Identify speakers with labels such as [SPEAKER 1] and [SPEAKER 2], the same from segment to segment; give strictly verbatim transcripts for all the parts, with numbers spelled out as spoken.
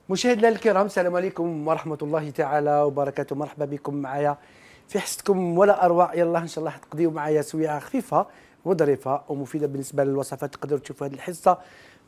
[SPEAKER 1] مشاهدينا الكرام، السلام عليكم ورحمة الله تعالى وبركاته. مرحبا بكم معايا في حصتكم ولا أروع. يلا إن شاء الله تقضيوا معايا سويعة خفيفة وظريفة ومفيدة بالنسبة للوصفات. تقدروا تشوفوا هذه الحصة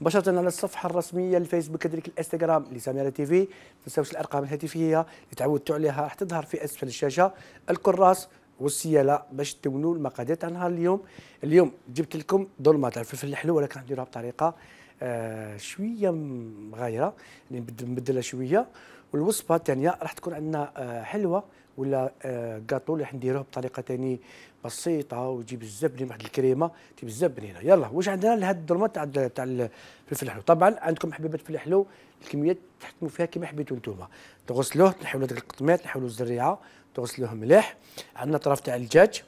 [SPEAKER 1] مباشرة على الصفحة الرسمية للفيسبوك كذلك الانستغرام لسميرة تيفي. ما تنساوش الأرقام الهاتفية اللي تعودتوا عليها راح تظهر في أسفل الشاشة، الكراس والسيالة باش تدونوا المقادير تاع نهار اليوم. اليوم جبت لكم دولمات تاع الفلفل الحلو، ولكن نديروها بطريقة آه شويه مغايره، يعني نبدلها شويه. والوصفه الثانيه راح تكون عندنا آه حلوه ولا آه كاطو اللي راح نديروه بطريقه ثاني بسيطه وتجي بزاف بنين، واحد الكريمه تجي بزاف بنينه. يلا واش عندنا لهاد الدرمات تاع تاع الفلفل الحلو؟ طبعا عندكم حبيبات الفلفل الحلو الكميات تحكموا فيها كما حبيتوا نتوما. تغسلوه، تنحيوا ديك القطميات، تنحيوا الزريعه، تغسلوه مليح. عندنا طرف تاع الدجاج،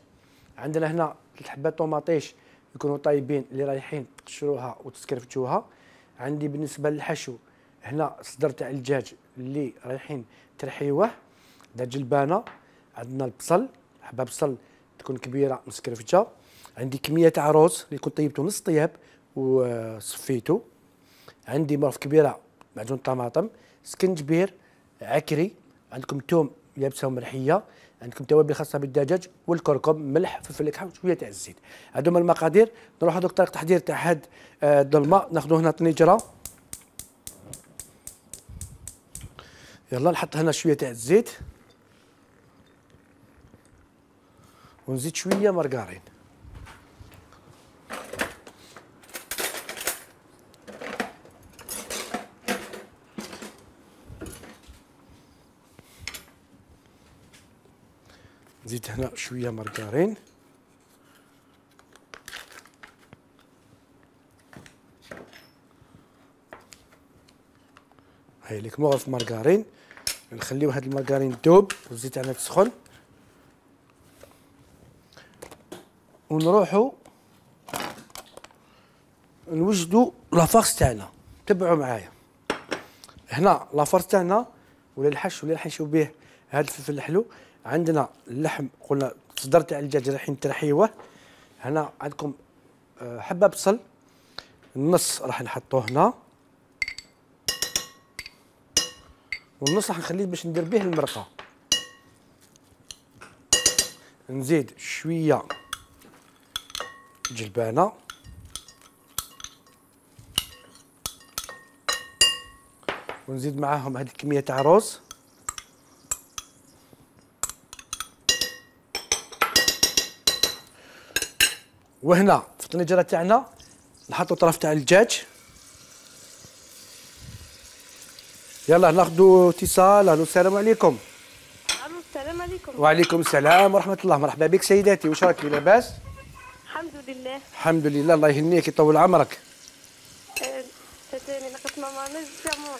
[SPEAKER 1] عندنا هنا ثلاث حبات طوماطيش يكونوا طايبين اللي رايحين تقشروها وتسكرفتوها. عندي بالنسبه للحشو هنا صدر تاع الدجاج اللي رايحين ترحيوه، دجاج البانه. عندنا البصل، حبه بصل تكون كبيره مسكرفته. عندي كميه تاع روز اللي كنت طيبته نص طياب وصفيته. عندي مرف كبيره معجون طماطم، سكنجبير، عكري. عندكم توم يابسه ومرحيه. عندكم توابل خاصه بالدجاج والكركم، ملح، فلفل اكحل وشويه تاع الزيت. هادو هما المقادير. نروحوا دوك طريقه التحضير تاع هاد الدولمه. ناخذوا هنا طنجره، يلا نحط هنا شويه تاع الزيت ونزيد شويه مارغرين. نزيد هنا شويه مارغرين. هاي لك مغرف مارغرين. نخليو هاد المارغرين دوب والزيت تاعنا تسخن، ونروحوا نوجدوا لافارس تاعنا. تبعوا معايا هنا لافارس تاعنا ولا الحش اللي راح نشوف به هاد الفلفل الحلو. عندنا اللحم، قلنا صدر تاع الدجاج رايحين ترحيوه. هنا عندكم حبه بصل النص راح نحطوه هنا، والنص راح نخليه باش ندير به المرقه. نزيد شويه جلبانه، ونزيد معاهم هذه الكميه تاع روز. وهنا في الطنجره تاعنا نحطوا طرف تاع الدجاج. يلا ناخذوا اتصال. الو السلام عليكم.
[SPEAKER 2] الو السلام عليكم.
[SPEAKER 1] وعليكم السلام ورحمه الله. مرحبا بك سيداتي، واش راكي لاباس؟
[SPEAKER 2] الحمد لله.
[SPEAKER 1] الحمد لله، الله يهنيك يطول عمرك.
[SPEAKER 2] أه تاني نقص ماما نجمون.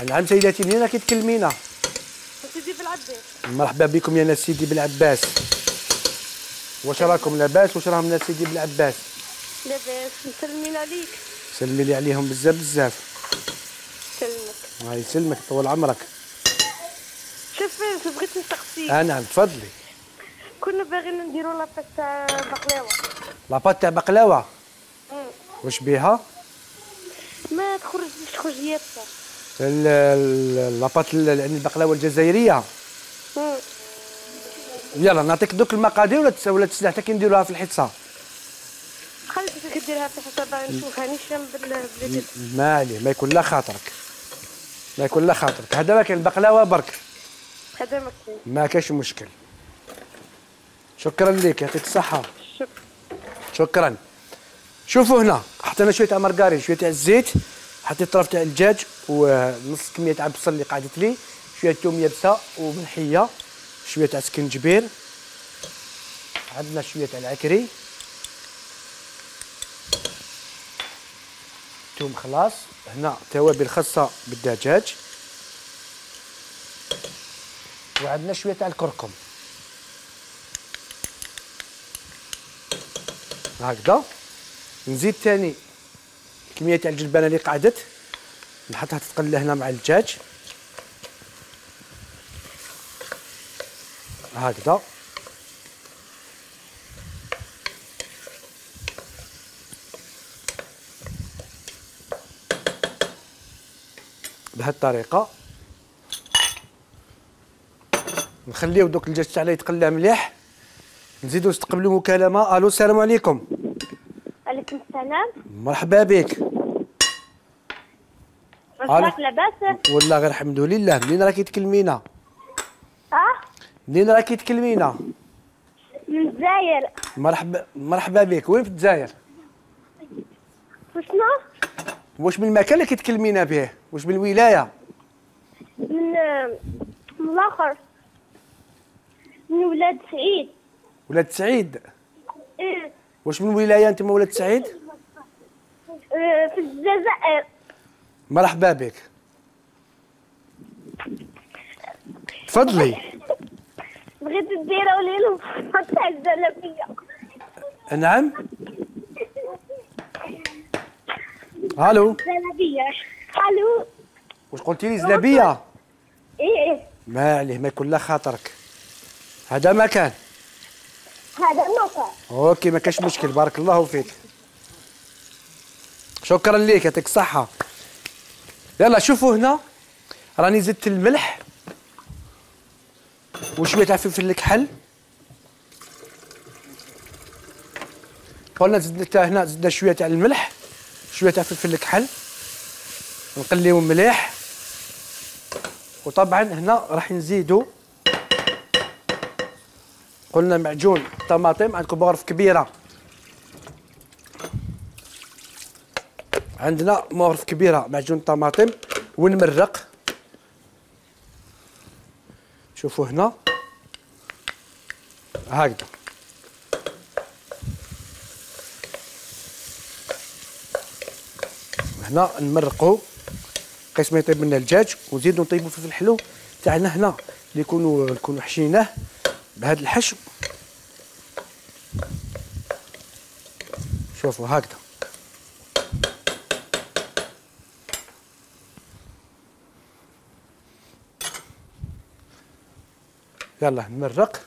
[SPEAKER 1] نعم سيداتي، منين راكي تكلمينا؟
[SPEAKER 2] سيدي بالعباس.
[SPEAKER 1] مرحبا بكم يا ناس سيدي بالعباس. واش راكم لاباس؟ واش راهم ناس سيدي بالعباس؟
[SPEAKER 2] لاباس، مسلمين عليك.
[SPEAKER 1] سلمي لي عليهم بزاف بزاف.
[SPEAKER 2] سلمك.
[SPEAKER 1] الله يسلمك طول عمرك.
[SPEAKER 2] شوف بغيت نسقسيك.
[SPEAKER 1] اه نعم تفضلي.
[SPEAKER 2] كنا باغيين نديروا لاباط تاع بقلاوه.
[SPEAKER 1] لاباط تاع بقلاوه؟ واش بيها؟
[SPEAKER 2] ما تخرجش تخرج يابسه.
[SPEAKER 1] لاباط يعني البقلاوه الجزائريه.
[SPEAKER 2] مم.
[SPEAKER 1] يلا نعطيك دوك المقادير ولا ولا تسلح حتى كي نديروها في الحصه؟
[SPEAKER 2] خليتك ديرها في حسابها نشوفها نشم بالجد.
[SPEAKER 1] ما عليه، ما يكون لا خاطرك، ما يكون لا خاطرك. هذا ما كاين البقلاوه برك،
[SPEAKER 2] هذا ما كاين،
[SPEAKER 1] ما كاينش مشكل. شكرا لك، يعطيك الصحه.
[SPEAKER 2] شكرا.
[SPEAKER 1] شكرا. شوفوا هنا حطينا شويه تاع مارغرين، شويه تاع الزيت، حطيت طرف تاع الدجاج ونص كميه تاع البصل اللي قعدت لي، شويه توم يابسه وملحيه، شويه تاع سكنجبير، عندنا شويه تاع العكري، توم خلاص. هنا توابل خاصه بالدجاج، وعندنا شويه تاع الكركم هكذا. نزيد ثاني كميه تاع الجلبانه اللي قعدت نحطها تتقلى هنا مع الدجاج هكذا. بهذه الطريقه. نخليو دوك الدجاج تاعنا يتقلى مليح. نزيدو نستقبلوا مكالمه. الو السلام عليكم.
[SPEAKER 2] عليكم السلام.
[SPEAKER 1] مرحبا بك.
[SPEAKER 2] واش لاباس؟
[SPEAKER 1] والله غير الحمد لله. منين راكي تكلمينا؟
[SPEAKER 2] اه
[SPEAKER 1] منين راكي تكلمينا؟
[SPEAKER 2] من الجزائر.
[SPEAKER 1] مرحبا مرحبا بك. وين في الجزائر؟
[SPEAKER 2] وشنو؟
[SPEAKER 1] واش من المكان اللي كتكلمينا به؟ واش من الولايه؟
[SPEAKER 2] من من الاخر، من ولاد سعيد.
[SPEAKER 1] ولاد سعيد؟
[SPEAKER 2] ايه.
[SPEAKER 1] واش من ولايه انت ولاد سعيد؟
[SPEAKER 2] اه في الجزائر.
[SPEAKER 1] مرحبا بك. تفضلي.
[SPEAKER 2] بغيت ديروا لي الوصفه تاع الزلابيه.
[SPEAKER 1] نعم. الو.
[SPEAKER 2] زلابيه. الو.
[SPEAKER 1] واش قلتي لي زلابيه؟
[SPEAKER 2] ايه.
[SPEAKER 1] ما عليه، ما يكون لا خاطرك. هذا مكان.
[SPEAKER 2] هذا مكان.
[SPEAKER 1] اوكي ما كاش مشكل. بارك الله فيك. شكرا ليك يعطيك الصحه. يلا شوفوا هنا راني زدت الملح وشويه تاع فلفل الكحل. قلنا زدنا هنا زدنا شويه تاع الملح، شويه تاع فلفل الكحل، نقليهم مليح. وطبعا هنا راح نزيدوا قلنا معجون طماطم. عندكم مغرف كبيره، عندنا مغرف كبيره معجون طماطم. ونمرق. شوفوا هنا هكذا. هنا نمرقوا قيس ما يطيب لنا الدجاج، ونزيدوا نطيبوا في الحلو تاعنا هنا اللي يكونوا نكونوا حشيناه بهذا الحشو. شوفوا هكذا. يلا نمرق.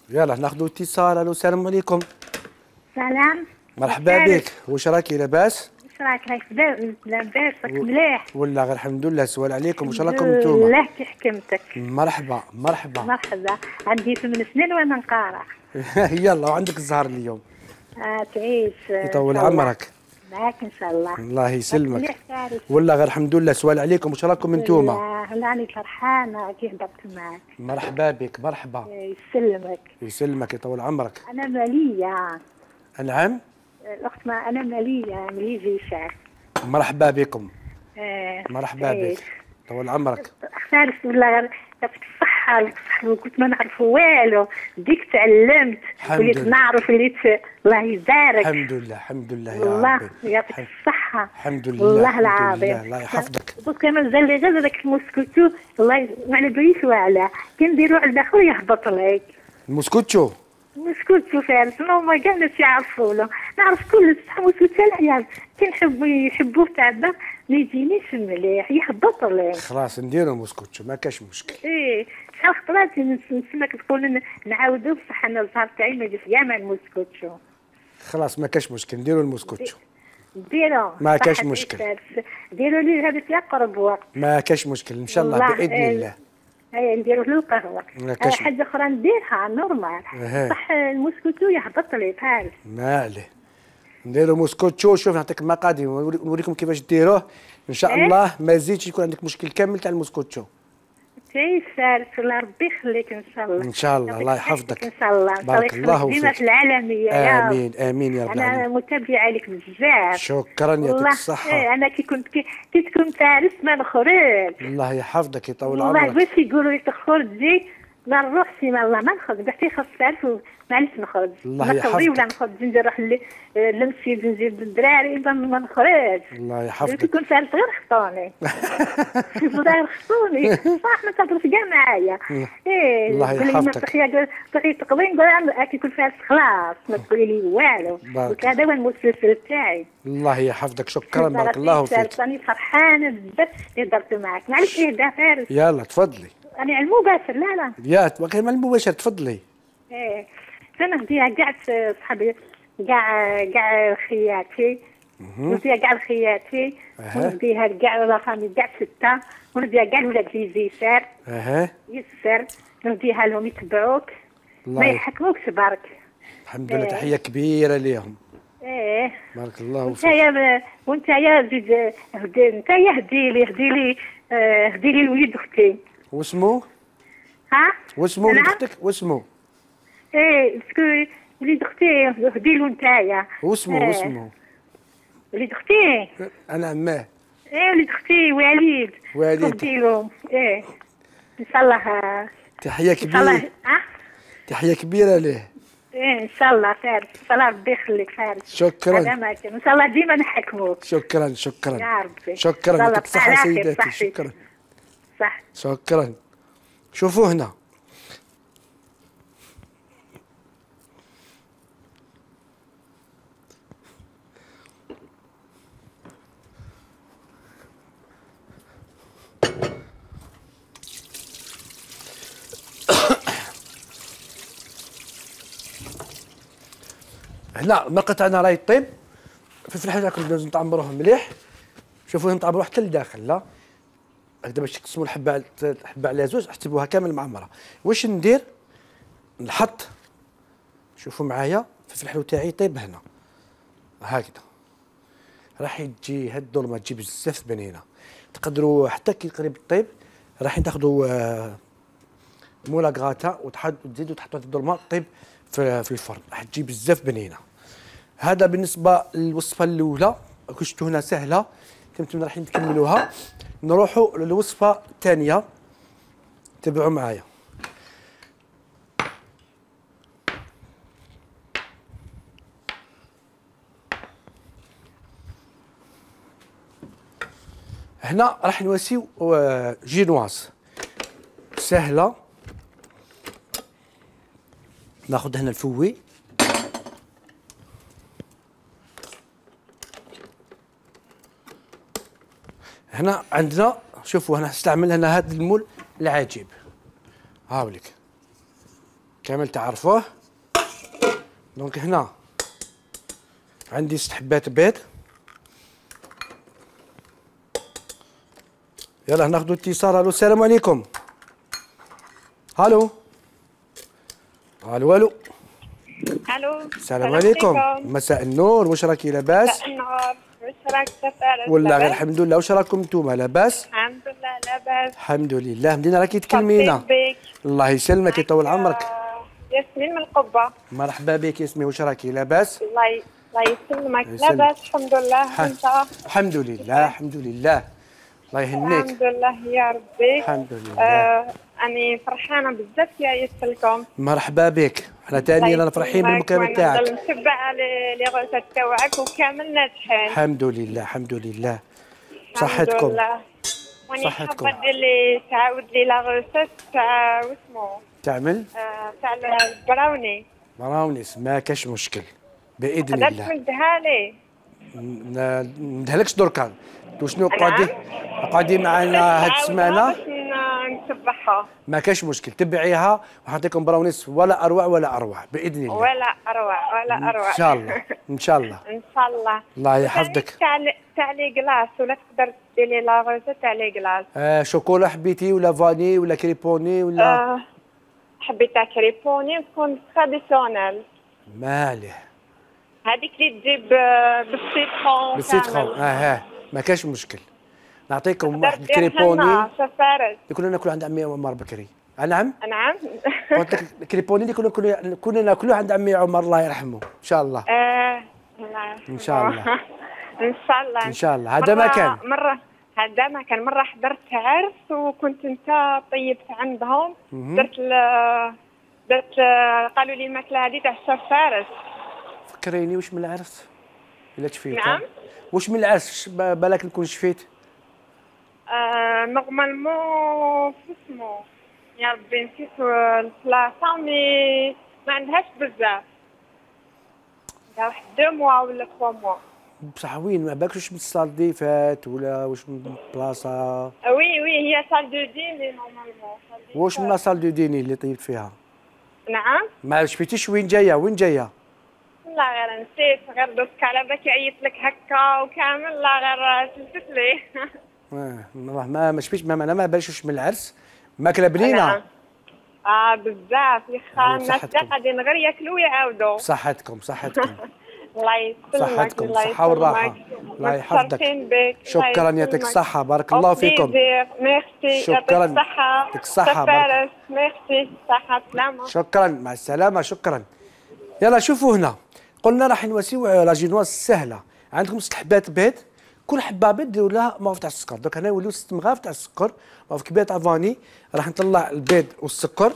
[SPEAKER 1] يلا ناخذوا اتصال. الو السلام عليكم.
[SPEAKER 2] سلام.
[SPEAKER 1] مرحبا بك. واش راكي لاباس؟
[SPEAKER 2] واش راك راك لاباس؟ راك مليح؟
[SPEAKER 1] والله غير الحمد لله. سؤال عليكم، واش راكم نتوما؟
[SPEAKER 2] الله كي حكمتك.
[SPEAKER 1] مرحبا مرحبا.
[SPEAKER 2] مرحبا. عندي ثمان سنين وانا نقارع.
[SPEAKER 1] يلا وعندك الزهر اليوم.
[SPEAKER 2] اه تعيش.
[SPEAKER 1] يطول عمرك.
[SPEAKER 2] معاك ان شاء الله.
[SPEAKER 1] الله يسلمك. والله غير الحمد لله. سؤال عليكم، واش راكم نتوما؟
[SPEAKER 2] والله راني فرحانه كي هضرت معاك.
[SPEAKER 1] مرحبا بك. مرحبا.
[SPEAKER 2] يسلمك.
[SPEAKER 1] يسلمك يطول عمرك.
[SPEAKER 2] انا ماليه.
[SPEAKER 1] نعم.
[SPEAKER 2] الاخت ما انا ماليه ماليه جيشان.
[SPEAKER 1] مرحبا بكم.
[SPEAKER 2] آه.
[SPEAKER 1] مرحبا بك. طول عمرك.
[SPEAKER 2] خالص والله يعطيك الصحة. الصحة كنت ما نعرف والو، ديك تعلمت وليت نعرف وليت. الله يبارك.
[SPEAKER 1] الحمد لله الحمد لله يا
[SPEAKER 2] الله
[SPEAKER 1] ربي.
[SPEAKER 2] يعطيك الصحة.
[SPEAKER 1] الحمد لله.
[SPEAKER 2] والله العظيم.
[SPEAKER 1] الله يحفظك.
[SPEAKER 2] دوك كمان زال لي غير داك المسكوتو. الله ما على باليش واعلى كنديرو على داخل يهبط لك.
[SPEAKER 1] المسكوتشو.
[SPEAKER 2] مسكوتو فارس ما هما كاع الناس يعرفونه. نعرف كل صح مسكوتو العيال كي نحبو يحبوه تاع الدار ما يجينيش مليح يهبط لك.
[SPEAKER 1] خلاص نديرو مسكوتشو ما كاش مشكل.
[SPEAKER 2] ايه شحال خطرات نسمعك تقول نعاودو بصح انا الزهر تاعي ما يجيش كاع مع المسكوتشو.
[SPEAKER 1] خلاص ما كاش مشكل نديرو المسكوتشو.
[SPEAKER 2] ديرو
[SPEAKER 1] ما كاش مشكل.
[SPEAKER 2] ديرو لي هذا في اقرب وقت.
[SPEAKER 1] ما كاش مشكل ان شاء الله باذن
[SPEAKER 2] ايه
[SPEAKER 1] الله.
[SPEAKER 2] اي نديرو له القهوه.
[SPEAKER 1] ما كاش
[SPEAKER 2] حاجه اخرى نديرها نورمال.
[SPEAKER 1] ايه.
[SPEAKER 2] صح المسكوتو يهبط لي بحال.
[SPEAKER 1] ما عليه. نديرو مسكوتشو. شوف نعطيك المقادير ونوريكم كيفاش ديروه ان شاء
[SPEAKER 2] إيه؟
[SPEAKER 1] الله. ما يزيدش يكون عندك مشكل كامل تاع المسكوتشو.
[SPEAKER 2] تعيش فارس الله ربي يخليك ان شاء الله.
[SPEAKER 1] ان شاء الله الله يحفظك.
[SPEAKER 2] ان شاء الله.
[SPEAKER 1] بارك الله
[SPEAKER 2] ديما
[SPEAKER 1] فيك.
[SPEAKER 2] في العالميه يا
[SPEAKER 1] امين امين يا رب
[SPEAKER 2] انا
[SPEAKER 1] العالمين.
[SPEAKER 2] متابعه لك بزاف.
[SPEAKER 1] شكرا يعطيك الصحه.
[SPEAKER 2] ايه انا كي كنت كي, كي تكون فارس ما نخرج.
[SPEAKER 1] الله يحفظك يطول
[SPEAKER 2] والله
[SPEAKER 1] عمرك.
[SPEAKER 2] باش يقولوا لي تخرجي ما نروحش ما الله ما نخرج بحتى خاص تعرف معليش نخرج.
[SPEAKER 1] الله يحفظك.
[SPEAKER 2] نخرج ولا نخرج نروح للمسجد نزيد الدراري اذا ما نخرج.
[SPEAKER 1] الله
[SPEAKER 2] كي
[SPEAKER 1] يحفظك.
[SPEAKER 2] كنت فارس غير خطوني. غير خطوني صح ما تهضرش كاع معايا. ايه
[SPEAKER 1] الله يحفظك.
[SPEAKER 2] تخيا تخيا تقضي نقول كي يكون فارس خلاص ما تقولي لي والو. قلت هذا هو المسلسل تاعي.
[SPEAKER 1] الله يحفظك. شكرا بارك الله فيك.
[SPEAKER 2] راني فرحانه بزاف اللي درت معك. معليش اهدى فارس.
[SPEAKER 1] يلا تفضلي.
[SPEAKER 2] أنا على المباشر لا لا.
[SPEAKER 1] يا كلمة المباشر تفضلي.
[SPEAKER 2] إيه تنهديها كاع صحابي، كاع كاع خياتي، نديها كاع لخياتي، ونديها كاع لافامي كاع ستة، ونديها كاع لولاد لي زيسار.
[SPEAKER 1] اها
[SPEAKER 2] يسر نديها لهم يتبعوك ما يحكموكش برك.
[SPEAKER 1] الحمد لله. تحيه كبيره ليهم.
[SPEAKER 2] ايه
[SPEAKER 1] بارك الله
[SPEAKER 2] وانت
[SPEAKER 1] فيك.
[SPEAKER 2] يا وانت يا زيد هدي انت يا هدي لي هدي لي آه، هدي لي وليد اختي.
[SPEAKER 1] واسمو؟
[SPEAKER 2] ها
[SPEAKER 1] واسمو وليد اختك؟ واسمو؟
[SPEAKER 2] ايه سكو وليد اختي هدي له نتايا.
[SPEAKER 1] واسمو
[SPEAKER 2] إيه.
[SPEAKER 1] واسمو؟
[SPEAKER 2] وليد اختي.
[SPEAKER 1] انا عماه.
[SPEAKER 2] ايه وليد اختي وليد.
[SPEAKER 1] وليد.
[SPEAKER 2] هدي له ايه ان شاء الله.
[SPEAKER 1] تحيه
[SPEAKER 2] ان شاء الله.
[SPEAKER 1] كبيره.
[SPEAKER 2] ها
[SPEAKER 1] تحيه كبيره ليه.
[SPEAKER 2] ايه ان شاء الله فارس، ان شاء الله ربي يخليك فارس.
[SPEAKER 1] شكرا.
[SPEAKER 2] هذا ما كان ان شاء الله ديما نحكموك.
[SPEAKER 1] شكرا شكرا
[SPEAKER 2] يا ربي.
[SPEAKER 1] شكرا. يعطيك الصحه سيداتي. شكرا.
[SPEAKER 2] صح.
[SPEAKER 1] شكرا. شوفوا هنا هنا المرقه تاعنا راهي طيب. فلفل الحار راكم لازم تعمروه مليح. شوفوا نتعمروه حتى لداخل. لا هكذا باش تقسموا الحبه الحبه على زوج، احسبوها كامل معمره. واش ندير؟ نحط، شوفوا معايا، فلفل الحلو تاعي طيب هنا هكذا. راح تجي هاد الظلمه تجي بزاف بنينه. تقدروا حتى كي قريب طيب راح تاخذوا آه مولا غاتا وتزيدوا تحطوا هاد الظلمه طيب في, في الفرن، راح تجي بزاف بنينه. هذا بالنسبه للوصفه الاولى. كي شفتوا هنا سهله، كنتم رايحين نكملوها. نروحوا للوصفه الثانيه، تبعوا معايا. هنا راح نواسيو جينواز سهله. ناخذ هنا الفوي، هنا عندنا شوفوا هنا استعمل هنا هذا المول العجيب هاوليك كامل تعرفوه. دونك هنا عندي ست حبات بيض. يلا ناخذوا اتصال. الو السلام عليكم. الو الو الو
[SPEAKER 3] الو
[SPEAKER 1] السلام عليكم. مساء النور. واش راكي لاباس؟
[SPEAKER 3] مساء النور. واش راك سفارة؟
[SPEAKER 1] والله غير الحمد لله. واش راكم نتوما لاباس؟
[SPEAKER 3] الحمد لله لاباس.
[SPEAKER 1] الحمد لله. مدينه راكي تكلمينا.
[SPEAKER 3] بك.
[SPEAKER 1] الله يسلمك يطول عمرك.
[SPEAKER 3] ياسمين من القبة.
[SPEAKER 1] مرحبا بك ياسمين. واش راكي لاباس؟
[SPEAKER 3] الله ي... الله يسلمك. لاباس الحمد لله. انت؟
[SPEAKER 1] الحمد لله الحمد لله. الله يهنيك.
[SPEAKER 3] الحمد لله يا ربي.
[SPEAKER 1] الحمد لله.
[SPEAKER 3] آه أنا فرحانة بزاف يا يسلكم.
[SPEAKER 1] مرحبا بك. احنا ثاني رانا فرحين بالمكالمة تاعك.
[SPEAKER 3] نضل نتبع لي غوسات تاعك وكامل ناجحين.
[SPEAKER 1] الحمد لله الحمد لله. صحتكم.
[SPEAKER 3] الحمد لله. واني
[SPEAKER 1] صحتكم.
[SPEAKER 3] حابة دير لي تعاود لي لا غوسات تاع واسمو
[SPEAKER 1] تعمل؟
[SPEAKER 3] آه تاع البراوني.
[SPEAKER 1] براونيس ما كاش مشكل باذن الله.
[SPEAKER 3] قدرت نديها لي.
[SPEAKER 1] ما ندهلكش دركا. وشنو قاعدين قاعدين معنا هاد السمانه
[SPEAKER 3] باش نتبعها.
[SPEAKER 1] ما كاش مشكل. تبعيها وحنعطيكم براونيس ولا اروع ولا اروع باذن الله.
[SPEAKER 3] ولا اروع ولا اروع.
[SPEAKER 1] ان شاء الله ان شاء الله.
[SPEAKER 3] ان شاء الله.
[SPEAKER 1] الله يحفظك.
[SPEAKER 3] تاع تاع لي كلاص ولا تقدر دير لي لا غوزه تاع لي كلاص.
[SPEAKER 1] آه شوكولا حبيتي ولا فاني ولا كريبوني ولا؟
[SPEAKER 3] آه حبيت تاع كريبوني تكون تراديسيونيل.
[SPEAKER 1] مالح.
[SPEAKER 3] هذيك اللي تجيب بالسيترون.
[SPEAKER 1] بالسيترون اه ما كاش مشكل. نعطيكم واحد الكريبوني
[SPEAKER 3] سفارة
[SPEAKER 1] اللي كنا ناكلوا عند عمي عمر بكري. نعم؟
[SPEAKER 3] نعم.
[SPEAKER 1] قلت لك الكريبوني اللي كنا كنا ناكلوه عند عمي عمر الله يرحمه ان شاء الله.
[SPEAKER 3] اه
[SPEAKER 1] ان شاء الله.
[SPEAKER 3] ان شاء الله.
[SPEAKER 1] ان شاء الله. هذا ما كان.
[SPEAKER 3] مرة هذا ما كان مرة حضرت عرس وكنت انت طيبت عندهم. درت درت قالوا لي الماكلة هذه تاع الشيف فارس.
[SPEAKER 1] فكريني واش من العرس؟ الا تشفيت.
[SPEAKER 3] نعم.
[SPEAKER 1] واش من العرس بالك نكون شفيت؟
[SPEAKER 3] آه نورمالمون اسمو يا ربي نسيت البلاصه مي ما عندهاش بزاف. عندها واحد دو موا ولا تخوا موا.
[SPEAKER 1] بصح وين ما بالكش من الصال دي فات ولا واش من بلاصه؟
[SPEAKER 3] وي وي هي صال دو ديني نورمالمون.
[SPEAKER 1] واش من لا صال دو ديني اللي طيبت فيها؟
[SPEAKER 3] نعم.
[SPEAKER 1] ما شفتيش وين جايه وين جايه؟
[SPEAKER 3] لا غير نسيت، غير دوك على بالك عيط لك هكا وكامل، لا غير تلفت لي.
[SPEAKER 1] اه ما ما شفتيش، ما انا ما باليش من العرس، ماكله بنينه.
[SPEAKER 3] نعم. اه بزاف يا خا، الناس
[SPEAKER 1] بصحتكم.
[SPEAKER 3] قاعدين غير ياكلوا ويعاودوا.
[SPEAKER 1] بصحتكم صحتكم.
[SPEAKER 3] الله يسلمك.
[SPEAKER 1] صحتكم
[SPEAKER 3] الله
[SPEAKER 1] الصحة والراحة.
[SPEAKER 3] يسلمك.
[SPEAKER 1] الله يحفظك.
[SPEAKER 3] متشرفين بك.
[SPEAKER 1] شكرا يعطيك الصحة، بارك الله فيكم.
[SPEAKER 3] ميرسي.
[SPEAKER 1] شكرا.
[SPEAKER 3] يعطيك الصحة.
[SPEAKER 1] يعطيك الصحة،
[SPEAKER 3] فارس. ميرسي. صحة سلامة.
[SPEAKER 1] شكرا، مع السلامة، شكرا. يلا شوفوا هنا، قلنا راح نواسيو لا جينواز سهلة. عندكم ست حبات بيض، كل حبة بيض ديروا لها مغرف تاع السكر. دوك هنا يوليو ست مغارف تاع السكر، مغرف كبيرة تاع فاني. راح نطلع البيض والسكر.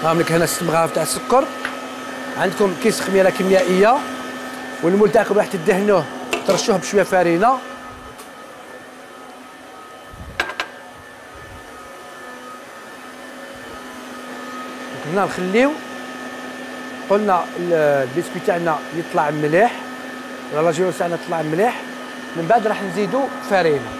[SPEAKER 1] هاهم لك هنا ست مغارف تاع السكر. عندكم كيس خميره كيميائيه، والمول تاعكم راح تدهنوه ترشوه بشويه فارينه. هنا نخليو، قلنا البسكويت تاعنا يطلع مليح، ولا لاجينوس تاعنا تطلع مليح. من بعد راح نزيدو فارينه.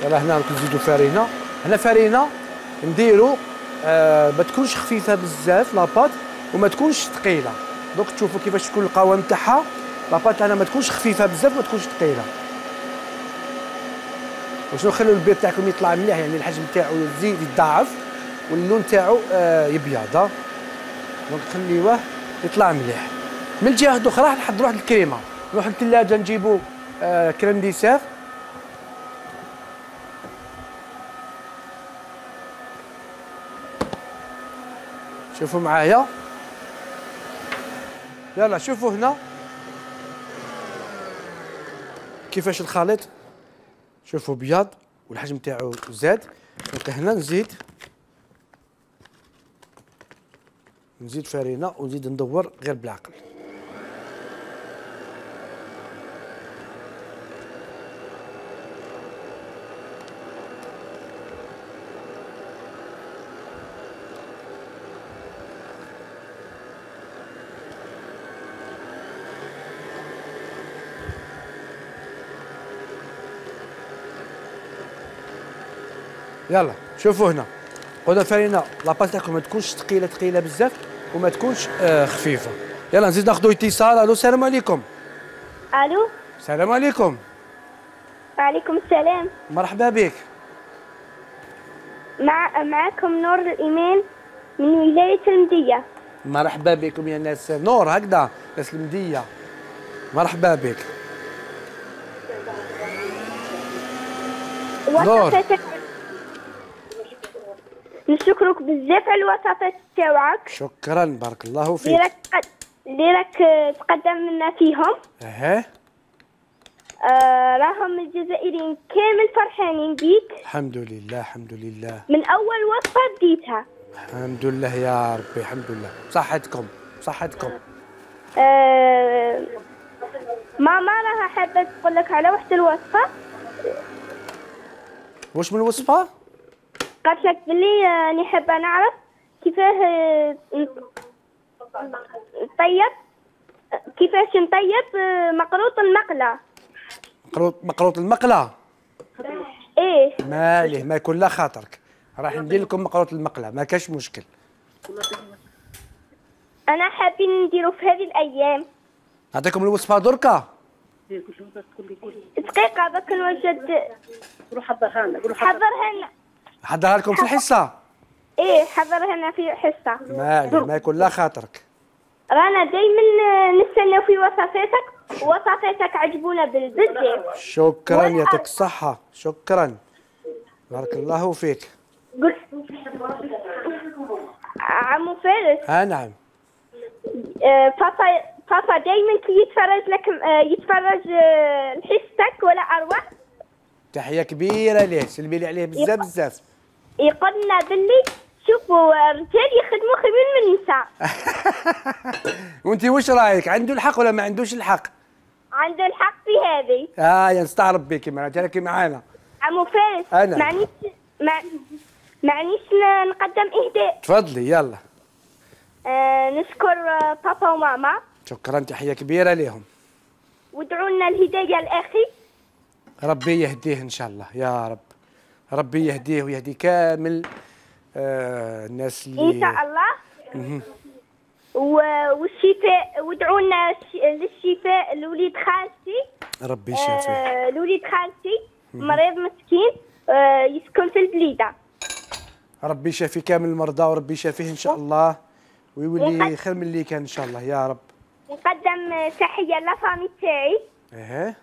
[SPEAKER 1] يلا هنا راك نزيدو فارينه. هنا فارينه نديرو آه ما تكونش خفيفه بزاف لاباط، وما تكونش ثقيله. دوك تشوفوا كيفاش تكون القوام تاعها. لاباط تاعنا ما تكونش خفيفه بزاف، ما تكونش ثقيله. باش نخليو البيض تاعكم يطلع مليح، يعني الحجم تاعو يزيد يتضاعف واللون تاعو آه يبيض. دونك خليوه يطلع مليح. من الجهه الاخرى راح نحضروا واحد الكريمه. نروح للثلاجه نجيبوا آه كريم ديسير. شوفوا معايا، يلا شوفوا هنا كيفاش الخليط. شوفوا بياض والحجم تاعو زاد. دونك هنا نزيد نزيد فارينه ونزيد ندور غير بالعقل. يلا شوفوا هنا، قلنا الفارينه لاباط تاعكم ما تكونش ثقيله ثقيله بزاف، وما تكونش آه خفيفه. يلا نزيد ناخذوا اتصال. الو السلام عليكم.
[SPEAKER 4] الو
[SPEAKER 1] السلام عليكم.
[SPEAKER 4] وعليكم السلام.
[SPEAKER 1] مرحبا بك.
[SPEAKER 4] مع معكم نور الإيمان من ولاية المدية.
[SPEAKER 1] مرحبا بكم يا ناس نور، هكذا ناس المدية. مرحبا بك
[SPEAKER 4] وصفتك. نشكرك بزاف على الوصفات تاوعك.
[SPEAKER 1] شكرا، بارك الله فيك.
[SPEAKER 4] اللي راك اللي راك تقدم لنا فيهم.
[SPEAKER 1] اها
[SPEAKER 4] آه راهم الجزائريين كامل فرحانين بيك.
[SPEAKER 1] الحمد لله الحمد لله.
[SPEAKER 4] من اول وصفه بديتها.
[SPEAKER 1] الحمد لله يا ربي، الحمد لله. صحتكم صحتكم.
[SPEAKER 4] آه ماما راها حابه تقول لك على واحد الوصفه.
[SPEAKER 1] واش من الوصفه؟
[SPEAKER 4] قالت لك بلي راني حابه نعرف كيفاه آه، نطيب كيفاش نطيب آه، مقروط المقله.
[SPEAKER 1] مقروط مقروط المقله.
[SPEAKER 4] ايه
[SPEAKER 1] ماليه ما يكون لا خاطرك، راح ندير لكم مقروط المقله، ما كاش مشكل.
[SPEAKER 4] انا حابين نديرو في هذه الايام.
[SPEAKER 1] نعطيكم الوصفه دركا.
[SPEAKER 4] دقيقه باك نوجد.
[SPEAKER 2] روح حضرها لنا.
[SPEAKER 4] حضرها لنا.
[SPEAKER 1] حضرها لكم في الحصه.
[SPEAKER 4] ايه حضرها لنا في حصه.
[SPEAKER 1] ماليه ما يكون لا خاطرك.
[SPEAKER 4] رانا دايما نستناو في وصفاتك، ووصفاتك عجبونا بزاف.
[SPEAKER 1] شكرا يعطيك الصحه، شكرا بارك الله فيك.
[SPEAKER 4] قلت عمو فارس.
[SPEAKER 1] اه نعم.
[SPEAKER 4] آه، بابا بابا دايما كي يتفرج لك آه، يتفرج آه، لحصتك ولا اروع.
[SPEAKER 1] تحيه كبيره ليه، سلمي لي عليه بزاف بزاف.
[SPEAKER 4] يقول لنا باللي شوفوا الرجال يخدموا خير من النساء.
[SPEAKER 1] وانت واش رايك، عنده الحق ولا ما عندوش الحق؟
[SPEAKER 4] عنده الحق في هذه.
[SPEAKER 1] اه يا نستعرب بك معناتها راكي معانا.
[SPEAKER 4] عمو فارس
[SPEAKER 1] أنا.
[SPEAKER 4] معنيش مع... معنيش نقدم إهداء.
[SPEAKER 1] تفضلي يلا.
[SPEAKER 4] آه نشكر آه، بابا وماما،
[SPEAKER 1] شكرا، تحية كبيرة لهم.
[SPEAKER 4] وادعوا لنا الهداية لأخي.
[SPEAKER 1] ربي يهديه إن شاء الله يا رب. ربي يهديه ويهدي كامل آه الناس اللي
[SPEAKER 4] إن شاء الله. و- والشفاء، وادعوا لنا ش- للشفاء لوليد خالتي.
[SPEAKER 1] ربي يشافيه.
[SPEAKER 4] آه لوليد خالتي مريض مسكين آه يسكن في البليدة.
[SPEAKER 1] ربي يشافي كامل المرضى وربي يشافيه إن شاء الله ويولي خير من اللي كان إن شاء الله يا رب.
[SPEAKER 4] نقدم آه، تحية لفامي تاعي
[SPEAKER 1] إيه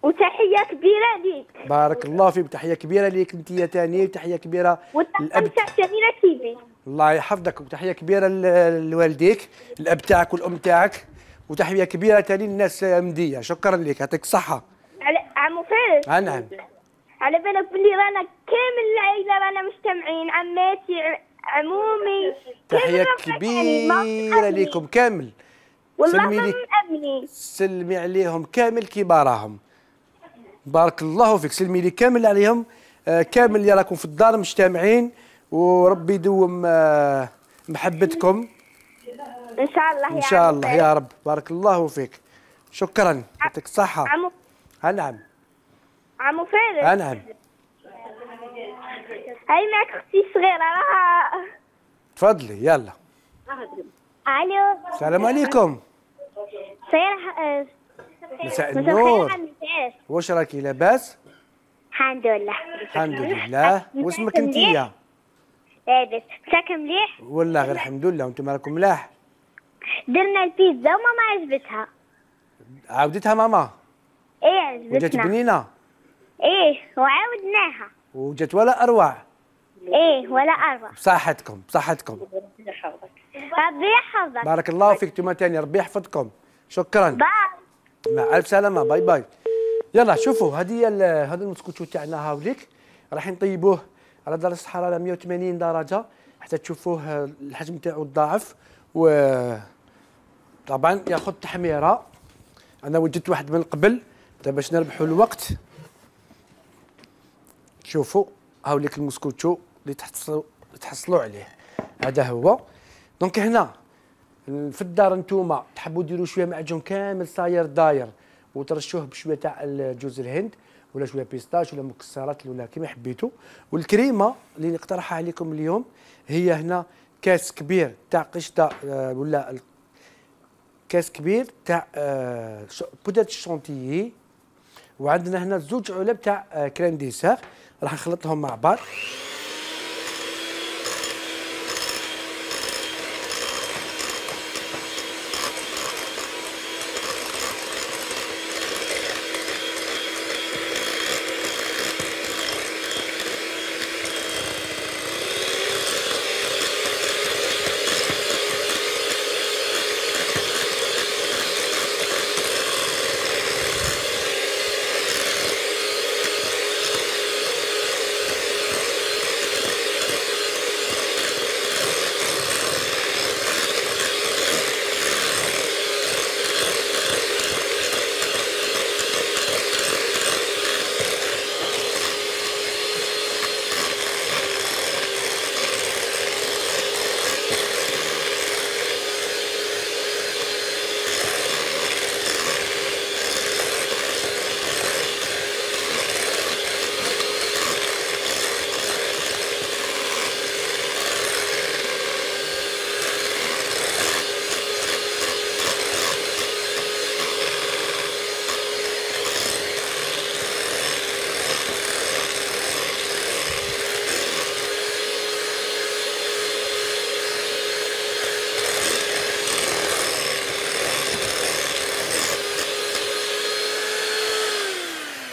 [SPEAKER 4] وتحية كبيرة ليك.
[SPEAKER 1] بارك الله فيك، تحية كبيرة ليك أنت يا تاني، وتحية كبيرة
[SPEAKER 4] والطاقم
[SPEAKER 1] للأب.
[SPEAKER 4] تاع جميلة تيفي.
[SPEAKER 1] الله يحفظك، وتحية كبيرة ل- لوالديك الأب تاعك والأم تاعك، وتحية كبيرة تاني للناس مدية. شكرا لك، يعطيك الصحة.
[SPEAKER 4] على عمو فارس،
[SPEAKER 1] آه نعم.
[SPEAKER 4] على بالك بلي رانا كامل العائلة رانا مجتمعين، عماتي ع- عمومي
[SPEAKER 1] تحية
[SPEAKER 4] كامل رانا
[SPEAKER 1] كبيرة
[SPEAKER 4] مأمنين.
[SPEAKER 1] لكم كامل.
[SPEAKER 4] والله
[SPEAKER 1] سلمي
[SPEAKER 4] ما
[SPEAKER 1] لك.
[SPEAKER 4] مأمنين.
[SPEAKER 1] سلمي عليهم كامل كبارهم. بارك الله فيك، سلمي لي كامل عليهم آه كامل اللي راكم في الدار مجتمعين، وربي يدوم آه محبتكم
[SPEAKER 4] ان شاء الله يا
[SPEAKER 1] ان شاء
[SPEAKER 4] عمو
[SPEAKER 1] الله
[SPEAKER 4] فارس.
[SPEAKER 1] يا رب. بارك الله فيك، شكرا، يعطيك الصحة.
[SPEAKER 4] عمو
[SPEAKER 1] آه نعم.
[SPEAKER 4] عمو فارس،
[SPEAKER 1] آه نعم.
[SPEAKER 4] هاي معك اختي الصغيرة راها.
[SPEAKER 1] تفضلي يلا.
[SPEAKER 4] الو
[SPEAKER 1] السلام عليكم.
[SPEAKER 4] صير
[SPEAKER 1] مساء النور.
[SPEAKER 4] عمو فارس.
[SPEAKER 1] واش راكي لاباس؟
[SPEAKER 4] الحمد لله.
[SPEAKER 1] الحمد لله. واسمك انتيا؟
[SPEAKER 4] لاباس. مساك مليح.
[SPEAKER 1] والله غير الحمد لله، وانتم راكم ملاح.
[SPEAKER 4] درنا البيتزا وماما عجبتها.
[SPEAKER 1] عاودتها ماما
[SPEAKER 4] ايه
[SPEAKER 1] وجات
[SPEAKER 4] عجبتنا.
[SPEAKER 1] بنينه
[SPEAKER 4] ايه وعاودناها.
[SPEAKER 1] وجات ولا اروع.
[SPEAKER 4] ايه ولا اروع.
[SPEAKER 1] بصحتكم بصحتكم.
[SPEAKER 4] ربي يحفظك.
[SPEAKER 1] بارك الله فيك انتم تاني، ربي يحفظكم. شكرا،
[SPEAKER 4] باي.
[SPEAKER 1] مع الف سلامه، باي باي. يلا شوفوا هذه هذا المسكوتشو تاعنا هاوليك راح نطيبوه على درجه حراره مئة وثمانين درجه حتى تشوفوه الحجم تاعو تضاعف، و طبعا ياخذ تحميره. انا وجدت واحد من قبل دابا باش نربحوا الوقت. شوفوا هاوليك المسكوتشو اللي تحصلوا تحصلوا عليه، هذا هو. دونك هنا في الدار نتوما تحبوا ديروا شويه معجون كامل صاير داير وترشوه بشويه تاع جوز الهند ولا شويه بيستاش ولا مكسرات ولا كيما حبيتوا. والكريمه اللي نقترحها عليكم اليوم هي هنا كاس كبير تاع قشطه آه، ولا كاس كبير تاع آه، بودره الشونتيي، وعندنا هنا زوج علب تاع آه، كريم ديسير راح نخلطهم مع بعض.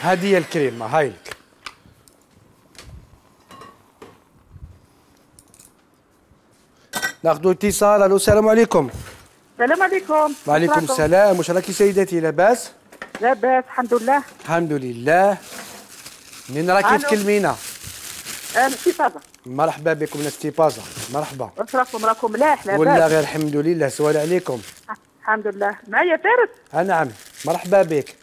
[SPEAKER 1] هذه هي الكريمه هاي لك. ناخذ اتصال. الو السلام عليكم.
[SPEAKER 5] السلام عليكم.
[SPEAKER 1] وعليكم السلام. واش راكي سيدتي لاباس؟
[SPEAKER 5] لاباس الحمد لله.
[SPEAKER 1] الحمد لله. منين راكي
[SPEAKER 5] ألو.
[SPEAKER 1] تكلمينا؟
[SPEAKER 5] الاستفاضة.
[SPEAKER 1] مرحبا بكم من استيبازا. مرحبا.
[SPEAKER 5] واش راكم راكم ملاح لاباس؟
[SPEAKER 1] ولا غير الحمد لله. سؤال عليكم.
[SPEAKER 5] الحمد لله. معايا فارس.
[SPEAKER 1] آه نعم، مرحبا بك.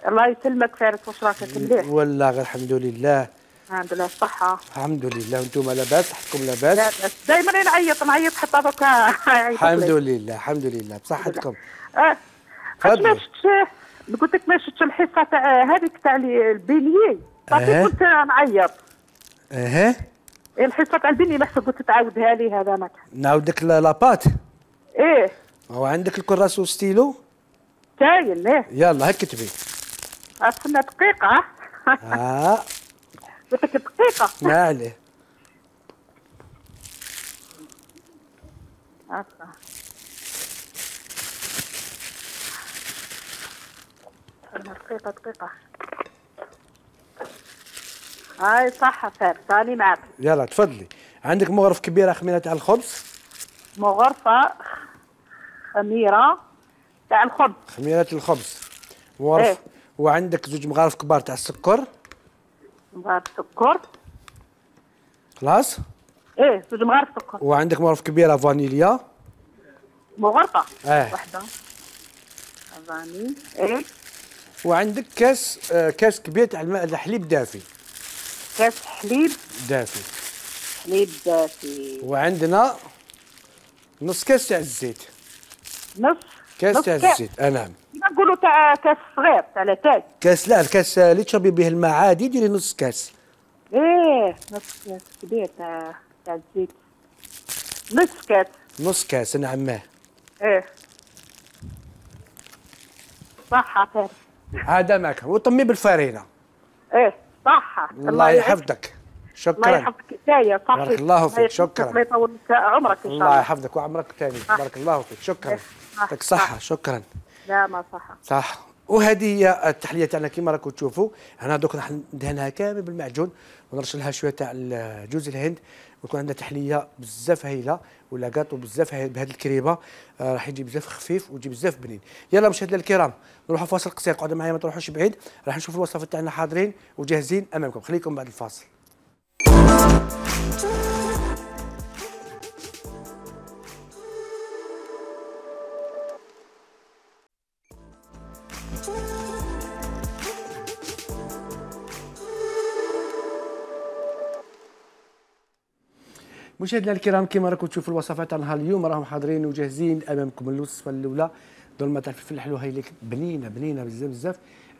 [SPEAKER 5] الله يسلمك فارس، واش راك مليح؟
[SPEAKER 1] والله غير الحمد لله.
[SPEAKER 5] الحمد لله الصحة.
[SPEAKER 1] الحمد لله، وانتم لاباس؟ صحتكم لاباس؟
[SPEAKER 5] لاباس، دائما نعيط نعيط حتى دوكا.
[SPEAKER 1] الحمد لله الحمد لله بصحتكم.
[SPEAKER 5] اه
[SPEAKER 1] تفضلي.
[SPEAKER 5] ما شفتش، قلت لك ما شفتش الحصة تاع هذيك تاع البينيي، صافي
[SPEAKER 1] أه.
[SPEAKER 5] كنت نعيط.
[SPEAKER 1] اها.
[SPEAKER 5] الحصة تاع البينيي محسن قلت تعاودها لي هذا ما كان.
[SPEAKER 1] نعاود لك لاباط.
[SPEAKER 5] ايه.
[SPEAKER 1] هو عندك الكراس والستيلو؟
[SPEAKER 5] كاين ايه.
[SPEAKER 1] يلا هاك كتبي.
[SPEAKER 5] استنى دقيقة.
[SPEAKER 1] اه
[SPEAKER 5] قلت لك دقيقة.
[SPEAKER 1] ما عليه.
[SPEAKER 5] أصلا. دقيقة دقيقة. هاي صح فارس، راني معك.
[SPEAKER 1] يلا تفضلي. عندك مغرف كبيرة خميرة تاع الخبز؟
[SPEAKER 5] مغرفة خميرة تاع الخبز.
[SPEAKER 1] خميرة الخبز. مغرف.
[SPEAKER 5] إيه.
[SPEAKER 1] وعندك زوج مغارف كبار تاع السكر.
[SPEAKER 5] مغرف سكر.
[SPEAKER 1] خلاص؟
[SPEAKER 5] ايه زوج مغارف سكر.
[SPEAKER 1] وعندك مغرف كبيرة فانيليا.
[SPEAKER 5] مغرفة.
[SPEAKER 1] اه.
[SPEAKER 5] وحدة. فاني. ايه.
[SPEAKER 1] وعندك كاس آه كاس كبير تاع الماء الحليب دافي.
[SPEAKER 5] كاس حليب
[SPEAKER 1] دافي.
[SPEAKER 5] حليب دافي.
[SPEAKER 1] وعندنا نص كاس تاع الزيت.
[SPEAKER 5] نص
[SPEAKER 1] كاس
[SPEAKER 5] نص
[SPEAKER 1] تاع
[SPEAKER 5] كاس.
[SPEAKER 1] الزيت، اه نعم.
[SPEAKER 5] نقولوا تاع كاس صغير تاع لاتاي.
[SPEAKER 1] كاس لا الكاس اللي تشربي به الماء عادي ديري نص كاس.
[SPEAKER 5] ايه نص كاس كبير تاع تاع الزيت. نص كاس.
[SPEAKER 1] نص كاس نعم.
[SPEAKER 5] ايه صح فارس.
[SPEAKER 1] هذا معك وطمي بالفرينه.
[SPEAKER 5] ايه صح.
[SPEAKER 1] الله يحفظك. شكرا.
[SPEAKER 5] الله يحفظك كفايه صح.
[SPEAKER 1] بارك الله فيك. شكرا.
[SPEAKER 5] الله يطول عمرك ان شاء الله.
[SPEAKER 1] الله يحفظك وعمرك ثاني. بارك الله فيك. شكرا. يعطيك الصحه. شكرا.
[SPEAKER 5] لا ما صح.
[SPEAKER 1] صح. وهذه هي التحليه تاعنا كما راكم تشوفوا. انا دوك راح ندهنها كامل بالمعجون ونرش لها شويه تاع جوز الهند ويكون عندنا تحليه بزاف هايله ولا كاطو بزاف هايل بهذه الكريبه. آه راح يجي بزاف خفيف ويجي بزاف بنين. يلا مشاهدينا الكرام نروحوا فاصل قصير، قعدوا معايا ما تروحوش بعيد، راح نشوفوا الوصفات تاعنا حاضرين وجاهزين امامكم. خليكم بعد الفاصل. مشاهدينا الكرام كما راكم تشوفوا الوصفات تاعنا اليوم راهم حاضرين وجاهزين امامكم. الوصفه الاولى دولمه تاع الفلفل الحلو هاي لك بنينه بنينه بزاف بزاف.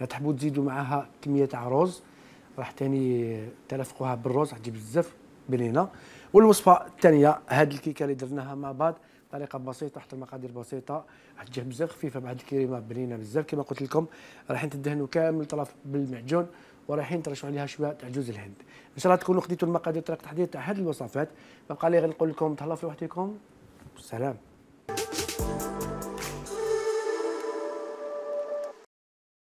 [SPEAKER 1] تحبوا تزيدوا معاها كميه تاع رز راح تاني تلفقوها بالرز راح تجي بزاف بنينه. والوصفه الثانيه هذه الكيكه اللي درناها مع بعض طريقه بسيطه حتى المقادير بسيطه راح تجي بزاف خفيفه بعد الكريمه بنينه بزاف. كما قلت لكم رايحين تدهنوا كامل طرف بالمعجون ورايحين ترشوا عليها شويه تاع جوز الهند. ان شاء الله تكونوا خديتوا المقادير طريقه التحضير تاع هذه الوصفات. ما بقى لي غير نقول لكم تهلاو في وحدكم. سلام.